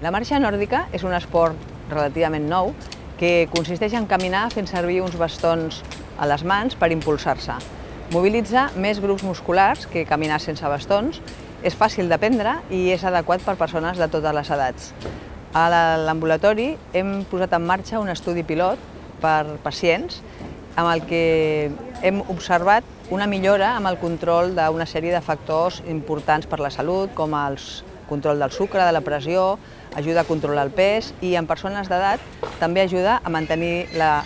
La marxa nòrdica és un esport relativament nou que consisteix en caminar fent servir uns bastons a les mans per impulsar-se. Mobilitza més grups musculars que caminar sense bastons, és fàcil d'aprendre i és adequat per persones de totes les edats. A l'ambulatori hem posat en marxa un estudi pilot per pacients amb el que hem observat una millora amb el control d'una sèrie de factors importants per la salut, com el control del sucre, de la pressió, ajuda a controlar el pes i en persones d'edat també ajuda a mantenir la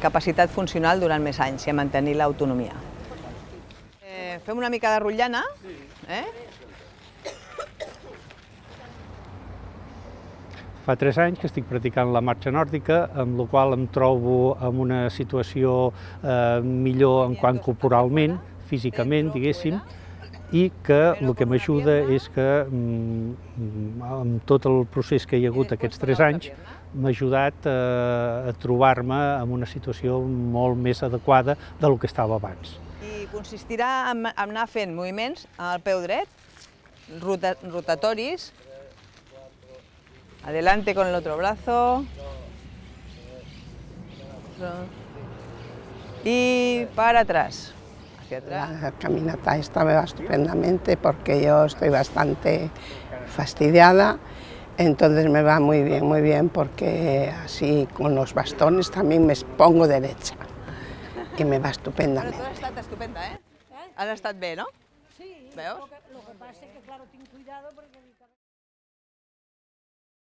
capacitat funcional durant més anys i a mantenir l'autonomia. Fem una mica de rotllana. Fa 3 anys que estic practicant la marxa nòrdica, amb la qual em trobo en una situació millor en quant corporalment, físicament, diguéssim, i que el que m'ajuda és que amb tot el procés que hi ha hagut aquests 3 anys m'ha ajudat a trobar-me en una situació molt més adequada del que estava abans. I consistirà en anar fent moviments amb el peu dret, rotatoris, adelante con el otro brazo y para atrás. La caminata esta me va estupendamente porque yo estoy bastante fastidiada, entonces me va muy bien porque así con los bastones también me pongo derecha y me va estupendamente. Però tu has estat estupenda, Has estat bé, no? Sí, veus? lo que pasa es que claro, ten cuidado porque